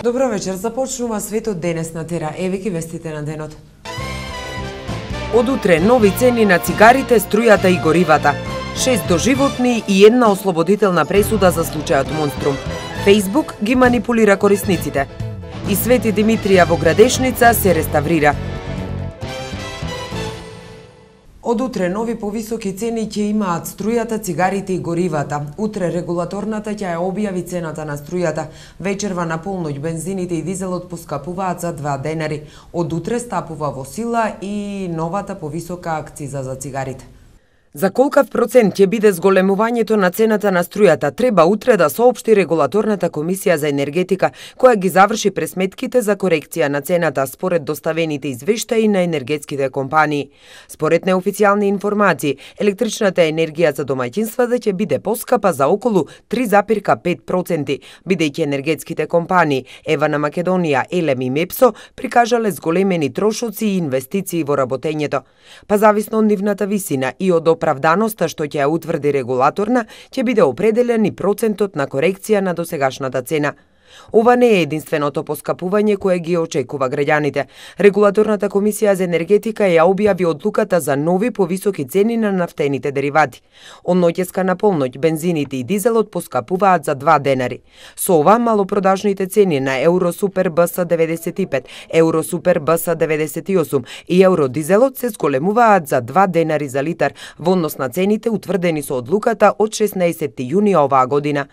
Добро вечер, започнува светот денес на Тера. Еве ги вестите на денот. Од утре нови цени на цигарите, струјата и горивата. 6 доживотни и една ослободителна пресуда за случајот Монструм. Фејсбук ги манипулира корисниците. И Свети Димитрија во Градешница се реставрира. Од утре нови повисоки цени ќе имаат струјата, цигарите и горивата. Утре регулаторната ќе ја објави цената на струјата. Вечерва на полноќ бензините и дизелот поскапуваат за 2 денари. Од утре стапува во сила и новата повисока акциза за цигарите. За колкав процент ќе биде зголемувањето на цената на струјата, треба утре да соопшти регулаторната комисија за енергетика, која ги заврши пресметките за корекција на цената според доставените извештаи на енергетските компании. Според неофицијални информации, електричната енергија за домаќинствата ќе биде поскапа за околу 3,5%, бидејќи енергетските компании Ева на Македонија, Елем и Мепсо прикажале зголемени трошоци и инвестиции во работењето. Па зависно од нивната висина и од оправданоста што ќе ја утврди регулаторна, ќе биде определен и процентот на корекција на досегашната цена. Ова не е единственото поскапување кое ги очекува граѓаните. Регулаторната комисија за енергетика ја објави одлуката за нови повисоки цени на нафтените деривати. Од ноќеска на полноќ бензините и дизелот поскапуваат за 2 денари. Со ова малопродажните цени на Евросупер БС 95, Евросупер БС 98 и Евродизелот се зголемуваат за 2 денари за литар во однос на цените утврдени со одлуката од 16 јуни оваа година.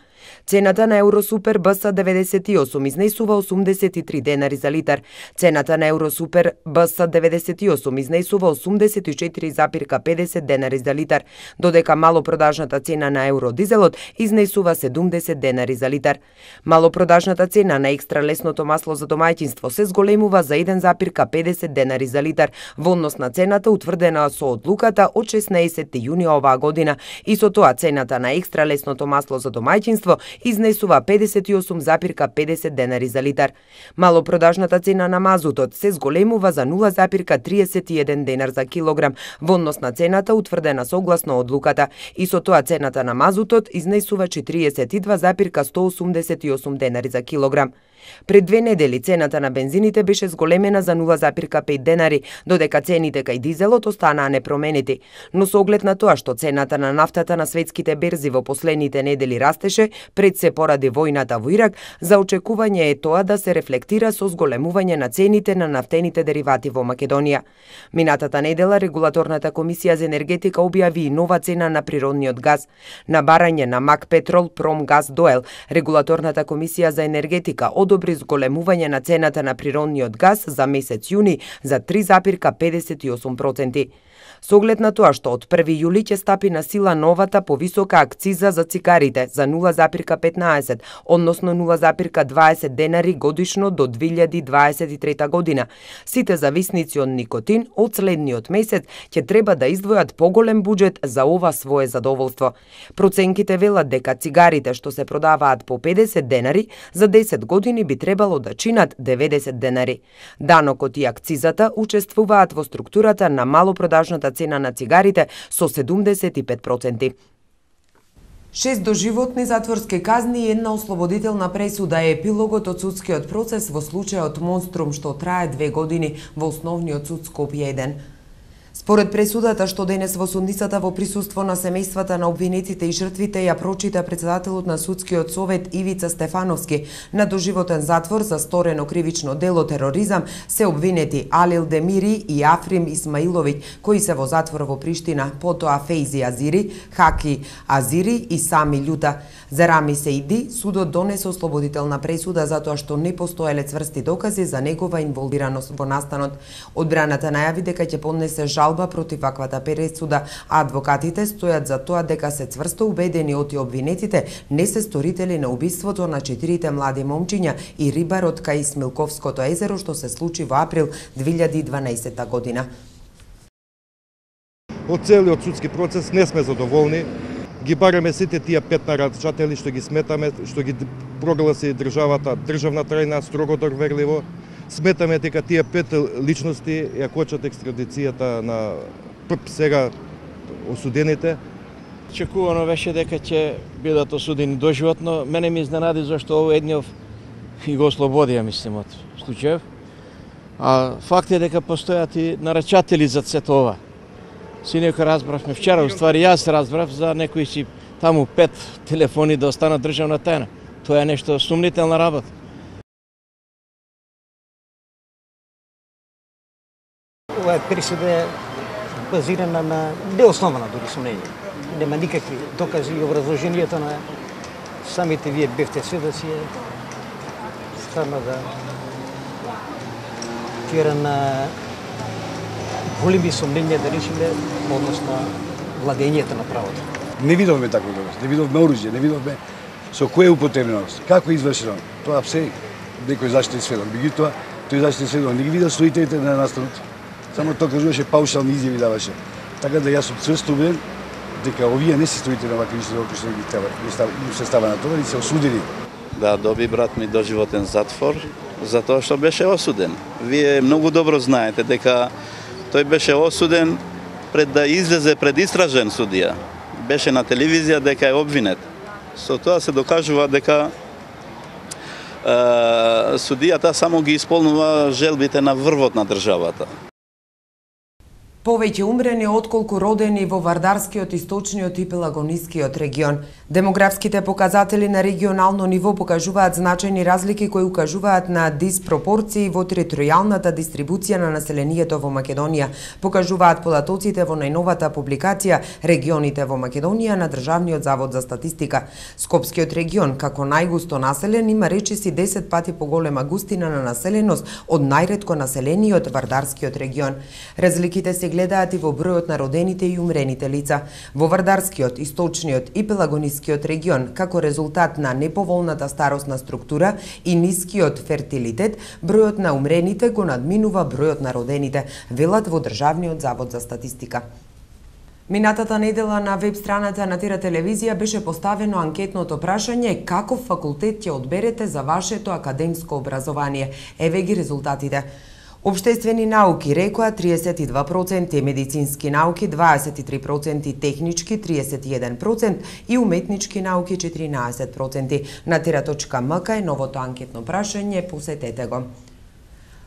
Цената на Евросупер БС 98 изнесува 83 денари за литар. Цената на Евросупер БС 98 изнесува 84,50 денари за литар, додека малопродажната цена на Евродизелот изнесува 70 денари за литар. Малопродажната цена на екстра лесното масло за домаќинство се зголемува за 1,50 денари за литар во однос на цената утврдена со одлуката од 16 јуни оваа година и со тоа цената на екстра лесното масло за домаќинство изнесува 58,50 денари за литар. Малопродажната цена на мазутот се зголемува за 0,31 денар за килограм во однос на цената утврдена согласно одлуката и со тоа цената на мазутот изнесува 42,188 денари за килограм. Пред 2 недели цената на бензините беше зголемена за 0,5 денари, додека цените кај дизелот останаа непроменети. Но со оглед на тоа што цената на нафтата на светските берзи во последните недели растеше, пред се поради војната во Ирак, за очекување е тоа да се рефлектира со зголемување на цените на нафтените деривати во Македонија. Минатата недела регулаторната комисија за енергетика објави и нова цена на природниот газ. На барање на МАК Петрол, Промгаз, Доел, регулаторната комисија за енергетика одобри зголемување на цената на природниот газ за месец јуни за 3,58%. Со оглед на тоа што од 1 јули ќе стапи на сила новата повисока акциза за цигарите за 0,15, односно 0,20 денари годишно до 2023 година. Сите зависници од никотин од следниот месец ќе треба да издвојат поголем буџет за ова свое задоволство. Проценките велат дека цигарите што се продаваат по 50 денари за 10 години би требало да чинат 90 денари. Данокот и акцизата учествуваат во структурата на малопродажната цена на цигарите со 75%. 6 доживотни затворски казни и една ослободителна пресуда е епилогот од судскиот процес во случајот Монструм што трае 2 години во Основниот суд Скопје 1. Според пресудата што денес во судницата во присуство на семејствата на обвинетите и жртвите ја прочита председателот на судскиот совет Ивица Стефановски, на доживотен затвор за сторено кривично дело тероризам се обвинети Алил Демири и Африм Исмаиловиќ, кои се во затвор во Приштина, потоа Фейзи Азири, Хаки Азири и Сами Љута. За Рами Сеиди судот донесе ослободителна пресуда затоа што не постоеле цврсти докази за негова инволвираност во настанот. Одбраната најави дека ќе поднесе жалба против ваквата пресуда, а адвокатите стојат за тоа дека се цврсто убедени оти обвинетите не се сторители на убиството на 4 млади момчиња и рибарот кај Смилковското езеро што се случи во април 2012 година. Од целиот судски процес не сме задоволни. Ги бараме сите тие 5 нарачатели што ги сметаме, што ги прогласи државата државна тајна строго доверливо. Сметаме дека тие 5 личности ја кочат екстрадицијата на сега осудените. Очекувано беше дека ќе бидат осудени доживотно. Мене ми изненади зашто овој едниот и го ослободија, мислим, од случајов. А факт е дека постојат и нарачатели за сето ова. Синека разбравме вчера, уствари јас разбрав за некои си таму 5 телефони да останат државна тајна. Тоа е нешто сумнителна работа. Ова пресуда е базирана на неоснована дури сомнење. Нема никакви докази и образложението на самите вие бевте сведоци е стварно да тира на големи сомнења да речеме однос на владењето на правото. Не видовме такво доказ, не видовме оружје, не видовме со кое е употребено, како е извршено. Тоа се некој заштитен сведок. Меѓутоа, тој заштитен сведок не ги видел стоителите на настанот. Само тоа кажуваше, паушални изјави даваше. Така да јас сум цврсто убеден дека овие не се стоите на вакви исти што ги треба, им се става на тоа и се осудени. Да, доби брат ми доживотен затвор затоа што беше осуден. Вие многу добро знаете дека тој беше осуден пред да излезе пред истражен судија. Беше на телевизија дека е обвинет. Со тоа се докажува дека судијата само ги исполнува желбите на врвот на државата. Повеќе умрени отколку родени во Вардарскиот, Источниот и Пелагонискиот регион. Демографските показатели на регионално ниво покажуваат значајни разлики кои укажуваат на диспропорции во територијалната дистрибуција на населението во Македонија, покажуваат податоците во најновата публикација Регионите во Македонија на Државниот завод за статистика. Скопскиот регион, како најгусто населен, има речиси 10 пати поголема густина на населеност од најретко населениот Вардарскиот регион. Разликите се гледаат и во бројот на родените и умрените лица. Во Вардарскиот, Источниот и Пелагонискиот регион, како резултат на неповолната старосна структура и нискиот фертилитет, бројот на умрените го надминува бројот на родените, велат во Државниот завод за статистика. Минатата недела на веб страната на Тира телевизија беше поставено анкетното прашање каков факултет ќе одберете за вашето академско образование. Еве ги резултатите. Обштествени науки рекоа 32%, медицински науки 23%, технички 31% и уметнички науки 14%. На Тера.мк е новото анкетно прашање, посетете го.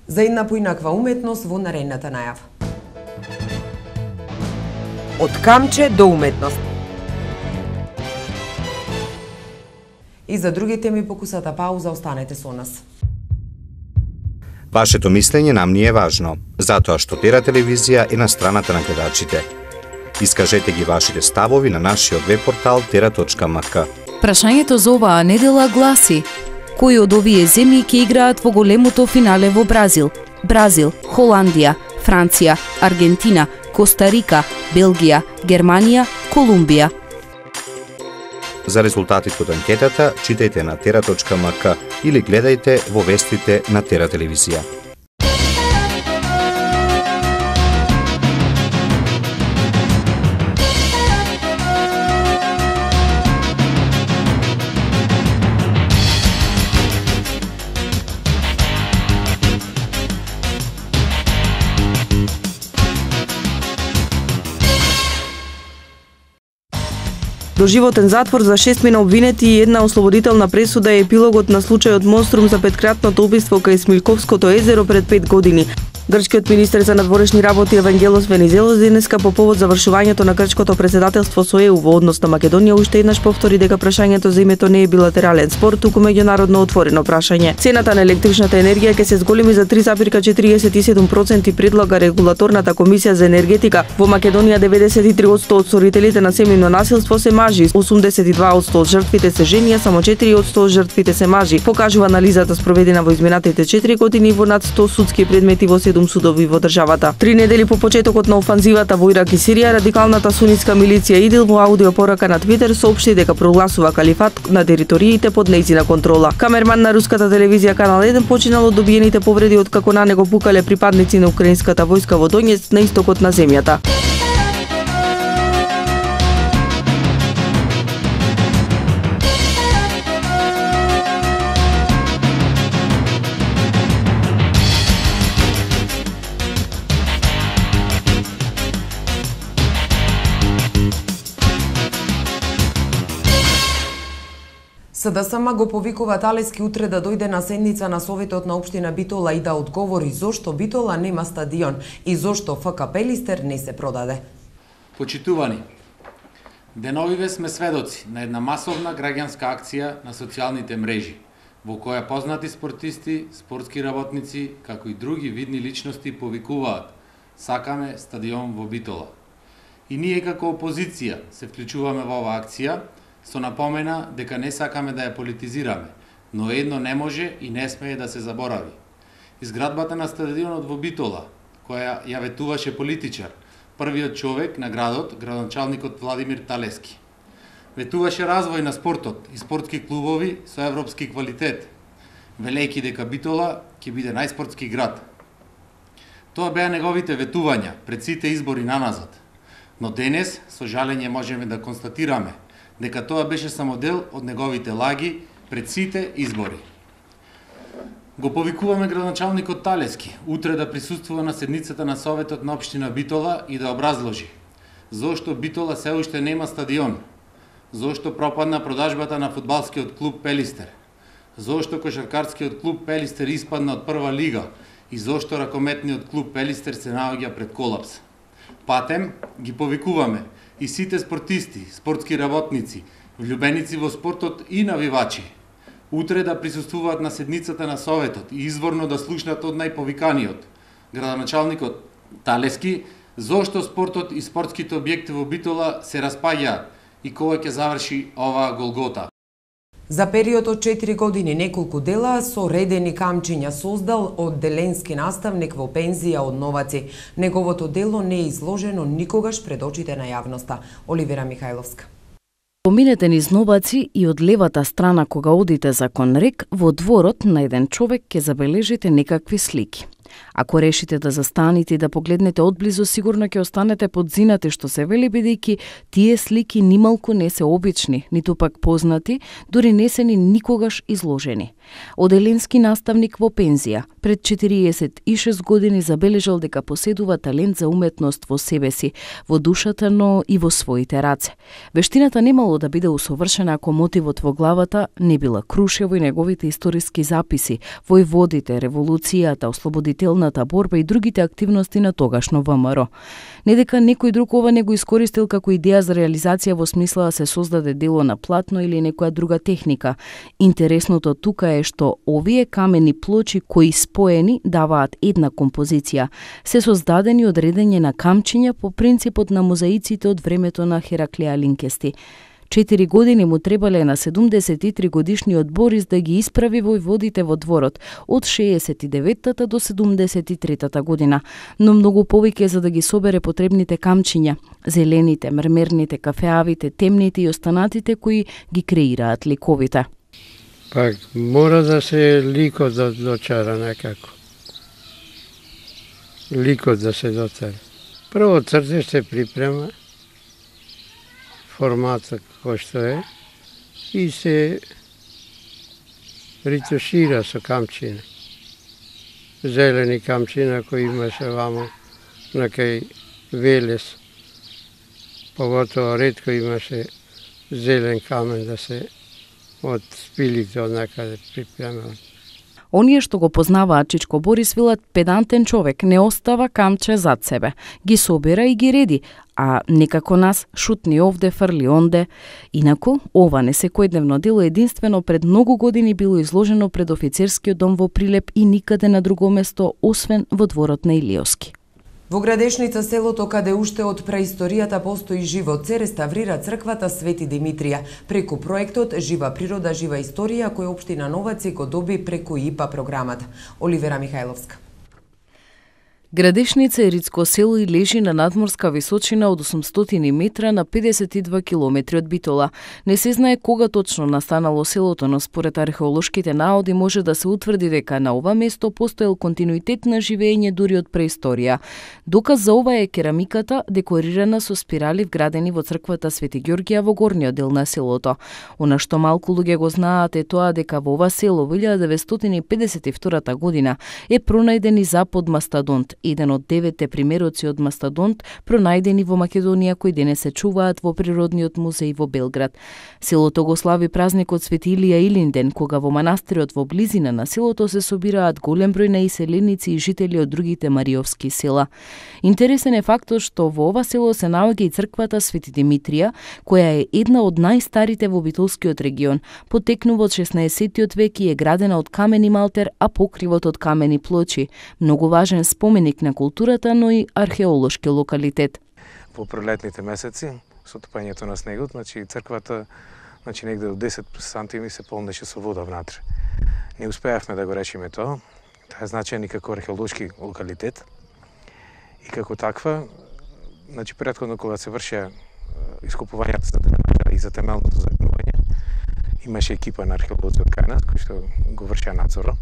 За една поинаква уметност во наредната најава. Од камче до уметност. И за други теми по кусата пауза, останете со нас. Вашето мислење нам ни е важно, затоа што Тера телевизија е на страната на гледачите. Искажете ги вашите ставови на нашиот веб-портал Tera.mk. Прашањето за оваа недела гласи: кои од овие земји ќе играат во големото финале во Бразил? Бразил, Холандија, Франција, Аргентина, Коста Рика, Белгија, Германија, Колумбија. За резултатите од анкетата читајте на Tera.mk или гледајте во вестите на Тера телевизија. Доживотен затвор за 6 на обвинети и една ослободителна пресуда е епилогот на случајот Монструм за петкратното убиство кај Смилковското езеро пред 5 години. Грчкиот министер за надворешни работи Евангелос Венизелос денеска по повод завршувањето на грчкото председателство со ЕУ во однос на Македонија уште еднаш повтори дека прашањето за името не е билатерален спор, туку меѓународно отворено прашање. Цената на електричната енергија ќе се зголеми за 3,47%, предлага регулаторната комисија за енергетика. Во Македонија 93% од сторителите на семејно насилство се мажи, 82% од жртвите се жени, а само 4% од жртвите се мажи, покажува анализата спроведена во изминатите 4 години во над 100 судски предмети во 7 судови во државата. 3 недели по почетокот на офанзивата во Ирак и Сирија, радикалната сунитска милиција ИДИЛ во аудиопорака на Твитер соопшти дека прогласува калифат на териториите под нејзина контрола. Камерман на руската телевизија Канал 1 починал од добиените повреди од како на него пукале припадници на украинската војска во Донецк на истокот на земјата. СДСМ го повикува Талески утре да дојде на седница на Советот на општина Битола и да одговори зошто Битола нема стадион и зошто ФК Пелистер не се продаде. Почитувани, деновиве сме сведоци на една масовна граѓанска акција на социјалните мрежи, во која познати спортисти, спортски работници, како и други видни личности повикуваат: сакаме стадион во Битола. И ние како опозиција се вклучуваме во оваа акција, со напомена дека не сакаме да ја политизираме, но едно не може и не смее да се заборави. Изградбата на стадионот во Битола, која ја ветуваше политичар, првиот човек на градот, градоначалникот Владимир Талески. Ветуваше развој на спортот и спортски клубови со европски квалитет, велејќи дека Битола ќе биде најспортски град. Тоа беа неговите ветувања пред сите избори наназад. Но денес, со жалење, можеме да констатираме дека тоа беше само дел од неговите лаги пред сите избори. Го повикуваме градоначалникот Талески утре да присуствува на седницата на Советот на општина Битола и да образложи зошто Битола се уште нема стадион, зошто пропадна продажбата на фудбалскиот клуб Пелистер, зошто кошаркарскиот клуб Пелистер испадна од прва лига и зошто ракометниот клуб Пелистер се наоѓа пред колапс. Патем ги повикуваме и сите спортисти, спортски работници, влюбеници во спортот и навивачи утре да присуствуваат на седницата на Советот и изворно да слушнат од најповиканиот, градоначалникот Талески, зошто спортот и спортските објекти во Битола се распаѓаат и кога ќе заврши оваа голгота. За период од 4 години неколку дела со редени камчиња создал одделенски наставник во пензија од Новаци. Неговото дело не е изложено никогаш пред очите на јавноста. Оливера Михајловска. Поминете низ Новаци и од левата страна кога одите за Конрек, во дворот на еден човек ќе забележите некакви слики. Ако решите да застанете и да погледнете одблизу, сигурно ќе останете подзинати што се вели, бидејќи тие слики нималку не се обични, ниту пак познати, дури не се ни никогаш изложени. Оделенски наставник во пензија, пред 46 години забележал дека поседува талент за уметност во себе си, во душата, но и во своите раце. Вештината немало да биде усовршена ако мотивот во главата не била Крушево и неговите историски записи, војводите, револуцијата, ослободителната борба и другите активности на тогашно ВМРО. Не дека некој друг ова не го искористил како идеја за реализација во смисла да се создаде дело на платно или некоја друга техника. Интересното тука е што овие камени плочи кои споени даваат една композиција, се создадени од редење на камчиња по принципот на мозаиците од времето на Хераклеја Линкести. 4 години му требале на 73 годишниот Борис да ги исправи војводите во дворот од 69-та до 73-та година, но многу повеќе за да ги собере потребните камчиња, зелените, мермерните, кафеавите, темните и останатите кои ги креираат ликовите. Пак мора да се ликот да дочара некако. Ликот да се доцара. Прво цртеж се припрема, формата кој што е, и се ритушира со камчина. Зелени камчина кои имаше вамо на кај Велес. Поготово ретко имаше зелен камен да се од спилите од некаде припремал. Оние што го познаваат Чичко Борис велат педантен човек, не остава камче зад себе. Ги собира и ги реди, а некако нас шутни овде, фрли онде. Инаку, ова не секојдневно дело единствено пред многу години било изложено пред офицерскиот дом во Прилеп и никаде на друго место, освен во дворот на Илиоски. Во Градешница, селото каде уште од преисторијата постои живот, се реставрира црквата Свети Димитрија преку проектот Жива природа, жива историја кој општина Новаци го доби преку ИПА програмата. Оливера Михајловска. Градешница е ридско село и лежи на надморска височина од 800 метра на 52 километри од Битола. Не се знае кога точно настанало селото, но според археолошките наоди може да се утврди дека на ова место постоел континуитет на живење дури од преисторија. Доказ за ова е керамиката декорирана со спирали вградени во црквата Свети Ѓорѓија во горниот дел на селото. Она што малку луѓе го знаат е тоа дека во ова село во 1952 година е пронајден и запод мастодонт, еден од 9 примероци од мастодонт пронајдени во Македонија кои денес се чуваат во Природниот музеј во Белград. Селото го слави празникот Свети Илија Илинден, кога во манастирот во близина на селото се собираат голем број на иселеници и жители од другите мариовски села. Интересен е фактот што во ова село се наоѓа и црквата Свети Димитрија, која е една од најстарите во Битолскиот регион. Потекнува од 16-тиот век и е градена од камени малтер, а покривот од камени плочи. Многу важен споменик на културата, но и археолошки локалитет. Во пролетните месеци, со топањето на снегот, црквата негде од 10 сантими се полнеше со вода внатре. Не успеавме да го решиме тоа. Тоа е значаен и како археолошки локалитет. И како таква, претходно кога се вршеа ископувањата за дренажа и за темелното загнување, имаше екипа на археолози од кај нас кои што го вршеа надзора.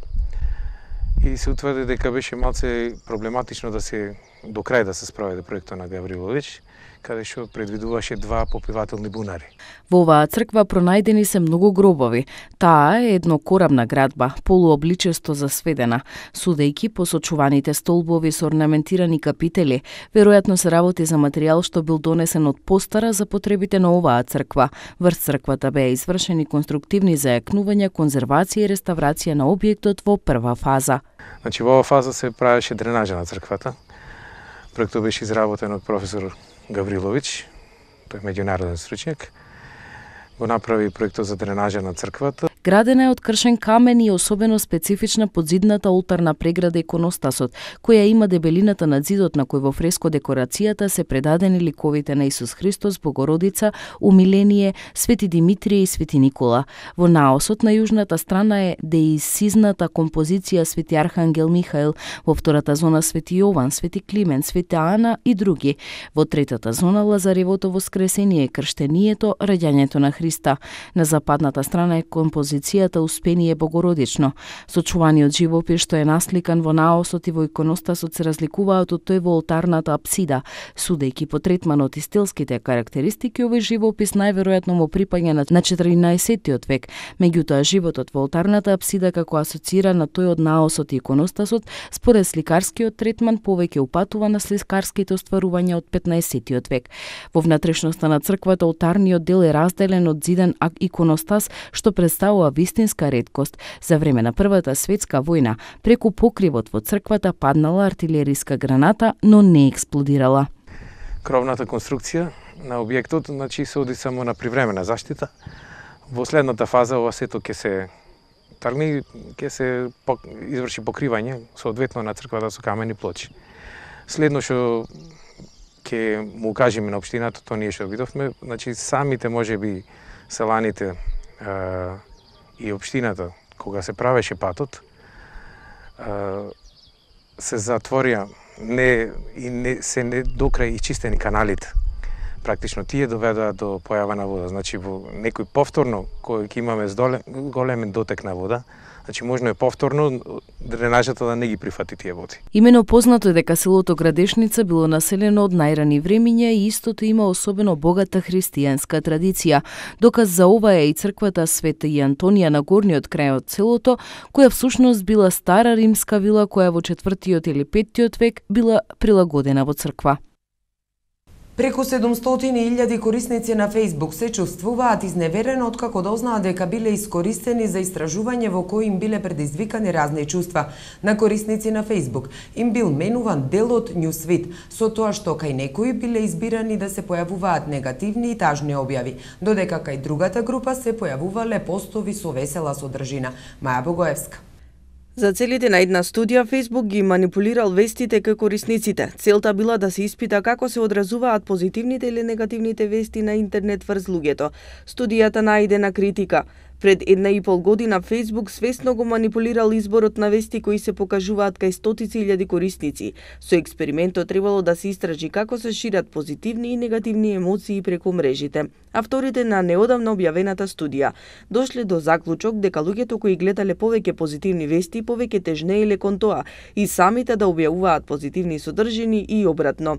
И се утврди дека беше малце проблематично до крај да се спроведе проектот на Гаврилович, каде што предвидуваше 2 попивателни бунари. Во оваа црква пронајдени се многу гробови. Таа е еднокорабна градба, полуобличесто засведена, судејќи по сочуваните столбови со орнаментирани капители. Веројатно се работи за материјал што бил донесен од постара за потребите на оваа црква. Врз црквата беа извршени конструктивни зајакнувања, конзервација и реставрација на објектот во прва фаза. Во оваа фаза се правеше дренажа на црквата. Проектот беше изработен од професор Гаврилович, тој е меѓународен стручњак, го направи проектот за дренажа на црквата. Градена е од кршен камен и особено специфична подзидната олтарна преграда иконостасот, која има дебелината на зидот на кој во фреско декорацијата се предадени ликовите на Исус Христос, Богородица, Умиление, Свети Димитрија и Свети Никола. Во наосот на јужната страна е деисизната композиција Свети Архангел Михаил, во втората зона Свети Јован, Свети Климент, Света Ана и други. Во третата зона Лазаревото воскресение, крштението, раѓањето на Христа. На западната страна е композицијата Успение Богородично. Сочуваниот живопис што е насликан во наосот и во иконостасот се разликуваат од тој во олтарната апсида. Судејќи по третманот и стилските карактеристики, овој живопис најверојатно му припаѓа на 14-тиот век. Меѓутоа, животот во олтарната апсида како асоцира на тој од наосот и иконостасот, според сликарскиот третман повеќе упатува на сликарските остварувања од 15-тиот век. Во внатрешноста на црквата олтарниот дел е разделен од зиден иконостас што представува вистинска реткост. За време на Првата светска војна, преку покривот во црквата паднала артилериска граната, но не експлодирала. Кровната конструкција на објектот се оди само на привремена заштита. Во следната фаза ова сето ќе се тргне, ќе се изврши покривање соодветно на црквата со камени плочи. Следно што ќе му кажеме на општината, тоа ние што видовме, самите можеби селаните и општината, кога се правеше патот, се затворија се не докрај ичистени каналите. Практично тие доведоа до појава на вода. Во некој повторно, кој ќе имаме големен дотек на вода, можно е повторно дренажата да не ги прифати тие води. Имено познато е дека селото Градешница било населено од најрани времиња и истото има особено богата христијанска традиција. Доказ за ова е и црквата Света и Антонија на горниот крај од селото, која всушност била стара римска вила која во 4-тиот или 5-тиот век била прилагодена во црква. Преку 700.000 корисници на Facebook се чувствуваат изневерено откако дознаат дека биле искористени за истражување во кои им биле предизвикани разни чувства. На корисници на Facebook им бил менуван дел од Newsfeed, со тоа што кај некои биле избирани да се појавуваат негативни и тажни објави, додека кај другата група се појавувале постови со весела содржина. Маја Богоевска. За целите на една студија, Facebook ги манипулирал вестите кај корисниците. Целта била да се испита како се одразуваат позитивните или негативните вести на интернет врз луѓето. Студијата најде на критика. Пред 1,5 година Facebook свесно го манипулирал изборот на вести кои се покажуваат кај стотици илјади корисници. Со експериментот требало да се истражи како се шират позитивни и негативни емоции преку мрежите. Авторите на неодамна објавената студија дошле до заклучок дека луѓето кои гледале повеќе позитивни вести повеќе тежнееле кон тоа и самите да објавуваат позитивни содржини и обратно.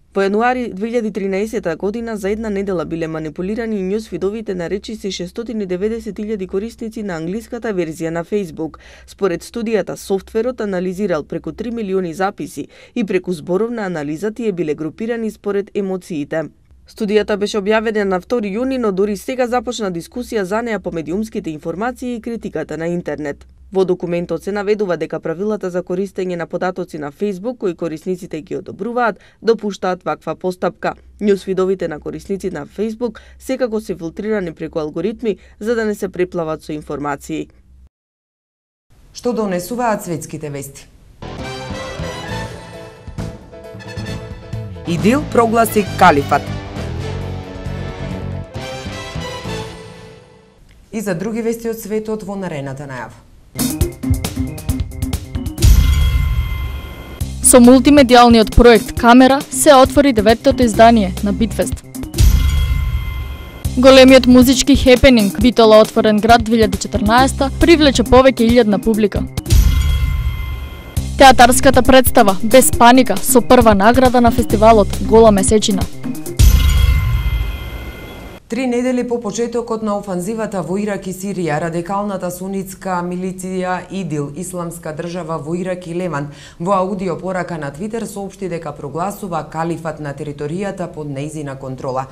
Во јануари 2013 година за една недела биле манипулирани њусфидовите на речиси 690.000 корисници на англиската верзија на Facebook. Според студијата, софтверот анализирал преку 3 милиони записи и преку зборовна анализа тие биле групирани според емоциите. Студијата беше објавена на 2 јуни, но дури сега започна дискусија за неа по медиумските информации и критиката на интернет. Во документот се наведува дека правилата за користење на податоци на Facebook, кои корисниците ги одобруваат, допуштаат ваква постапка. Њусфидовите на корисници на Facebook секако се филтрирани преку алгоритми за да не се преплават со информации. Што донесуваат светските вести? ИДИЛ прогласи калифат. И за други вести од светот во наредната најава. Со мултимедијалниот проект Камера се отвори 9-тото издание на Битфест. Големиот музички хепенинг Битола отворен град 2014 привлече повеќе илјадна публика. Театарската представа Без паника со прва награда на фестивалот Гола месечина. 3 недели по почетокот на офанзивата во Ирак и Сирија, радикалната сунитска милиција ИДИЛ, Исламска држава во Ирак и Левант, во аудио порака на Твитер соопшти дека прогласува калифат на територијата под нејзина контрола.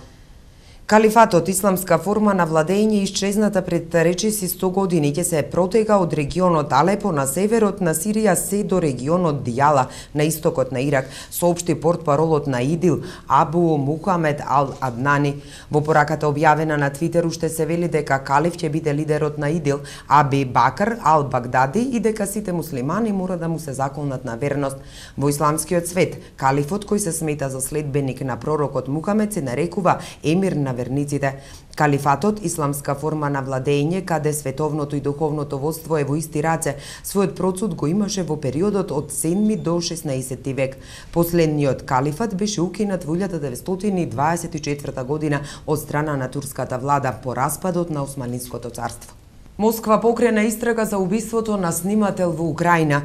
Калифатот, исламска форма на владење исчезната пред речиси 100 години, ќе се протега од регионот Алепо на северот на Сирија се до регионот Дијала на истокот на Ирак, соопшти портпаролот на ИДИЛ Абу Мухамед Ал-Аднани. Во пораката објавена на Твитер уште се вели дека калиф ќе биде лидерот на ИДИЛ Аби Бакр Ал-Багдади и дека сите муслимани мора да му се заколнат на верност. Во исламскиот свет, калифот кој се смета за следбеник на пророкот Мухамед се нарекува емир на верниците. Калифатот, исламска форма на владење, каде световното и духовното водство е во исти раце, својот процуд го имаше во периодот од 7 до 16 век. Последниот калифат беше укинат во 1924 година од страна на турската влада по распадот на Османлиското царство. Москва покрена истрага за убиството на снимател во Украина.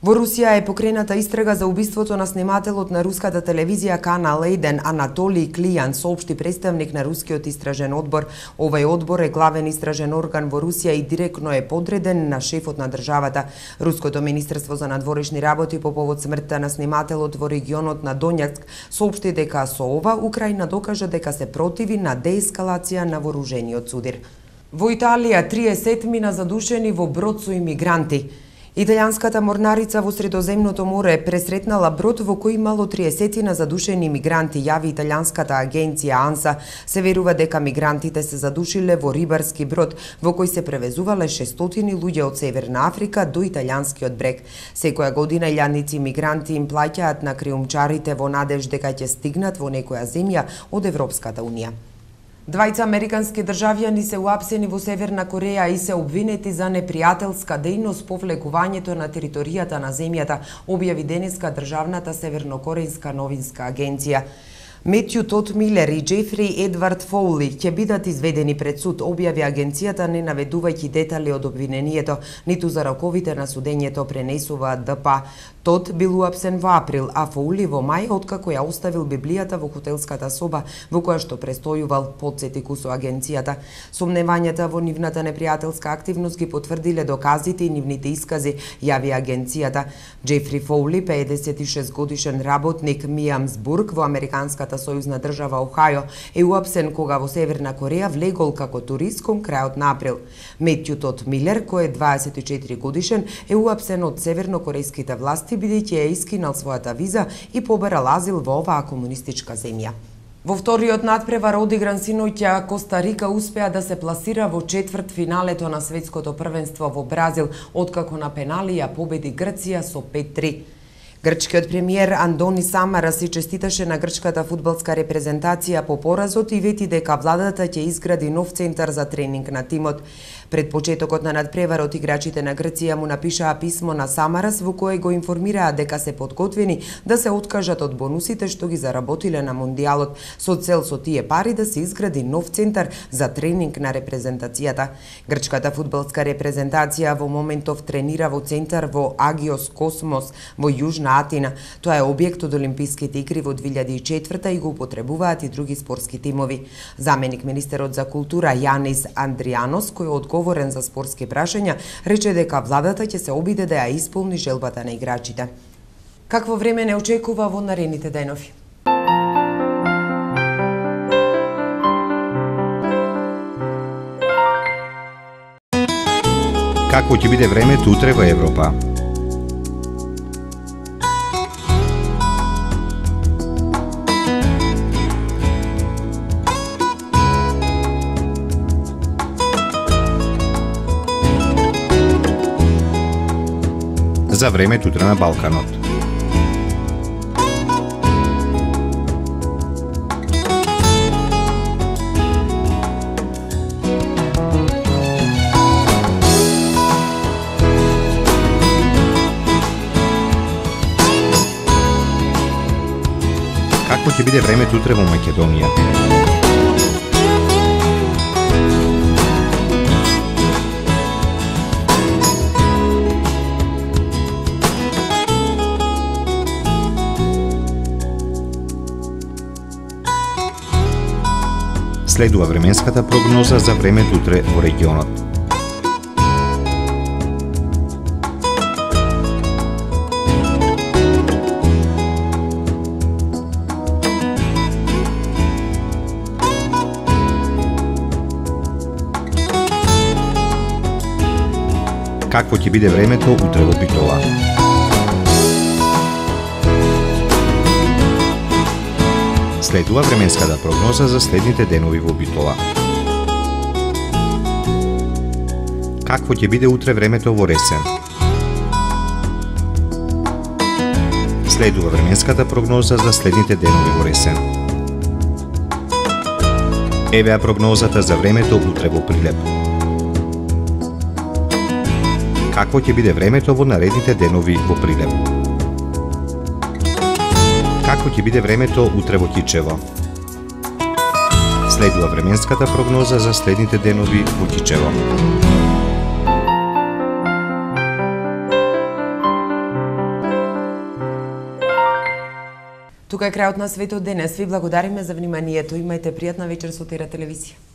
Во Русија е покрената истрага за убиството на снимателот на руската телевизија Канал 1 Анатолий Клијан, соопшти представник на рускиот истражен одбор. Овај одбор е главен истражен орган во Русија и директно е подреден на шефот на државата. Руското министерство за надворешни работи по повод смртта на снимателот во регионот на Донјацк соопшти дека со ова Украина докажа дека се противи на деескалација на вооружениот судир. Во Италија 30 мина задушени во брод со имигранти. Италијанската морнарица во Средоземното море пресретнала брод во кој имало 30 задушени мигранти, јави италијанската агенција АНСА. Се верува дека мигрантите се задушиле во рибарски брод во кој се превезувале 600 луѓе од Северна Африка до италијанскиот брег. Секоја година илјадници мигранти им плаќаат на криумчарите во надеж дека ќе стигнат во некоја земја од Европската унија. Двајца американски државјани се уапсени во Северна Кореја и се обвинети за непријателска дејност по влегувањето на територијата на земјата, објави денеска државната севернокорејска новинска агенција. Метју Тод Милер и Джефри Едвард Фоули ќе бидат изведени пред суд, објави агенцијата, не наведувајќи детали од обвинението, ниту за роковите на судењето, пренесува ДПА. Тод бил уапсен во април, а Фоули во мај, откако ја оставил Библијата во хотелската соба во која што престојувал, потсети кусо агенцијата. Сомневањата во нивната непријателска активност ги потврдиле доказите и нивните искази, јави агенцијата. Джефри Фоули, 56 годишен работник Миамсбург во американската сојузна држава Охајо, е уапсен кога во Северна Кореја влегол како турист кон крајот на април. Метју Тод Милер, кој е 24 годишен, е уапсен од севернокорејските власти бидејќи е искинал својата виза и побарал азил во оваа комунистичка земја. Во вториот надпревар одигран синоќа, Коста Рика успеа да се пласира во четврт финалето на светското првенство во Бразил, откако на пенали ја победи Грција со 5-3. Грчкиот премиер Андони Самара се честиташе на грчката фудбалска репрезентација по поразот и вети дека владата ќе изгради нов центар за тренинг на тимот. Пред почетокот на надпреварот играчите на Грција му напишаа писмо на Самарас во кое го информираа дека се подготвени да се откажат од бонусите што ги заработиле на Мондијалот, со цел со тие пари да се изгради нов центар за тренинг на репрезентацијата. Грчката фудбалска репрезентација во моментов тренира во центар во Агиос Космос во Јужна Атина. Тоа е објект од Олимписките игри во 2004 и го употребуваат и други спортски тимови. Заменик министерот за култура Јанис Андријанос, кој е одговорен за спортски прашања, рече дека владата ќе се обиде да ја исполни желбата на играчите. Какво време не очекува во наредните денови? Какво ќе биде времето утре во Европа? За времето утре на Балканот. Какво ќе биде времето утре во Македонија? Следува временската прогноза за времето утре во регионот. Какво ќе биде времето утре во Битола? Следува временската прогноза за следните денови во Битола. Какво ќе биде утре времето во Ресен? Следува временската прогноза за следните денови во Ресен. Евеа прогнозата за времето утре во Прилеп. Какво ќе биде времето во наредните денови во Прилеп? Какво ќе биде времето утре во Кичево? Следува временската прогноза за следните денови во Кичево. Тука е крајот на светот денес. Ви благодариме за вниманието. Имајте пријатна вечер со Тера телевизија.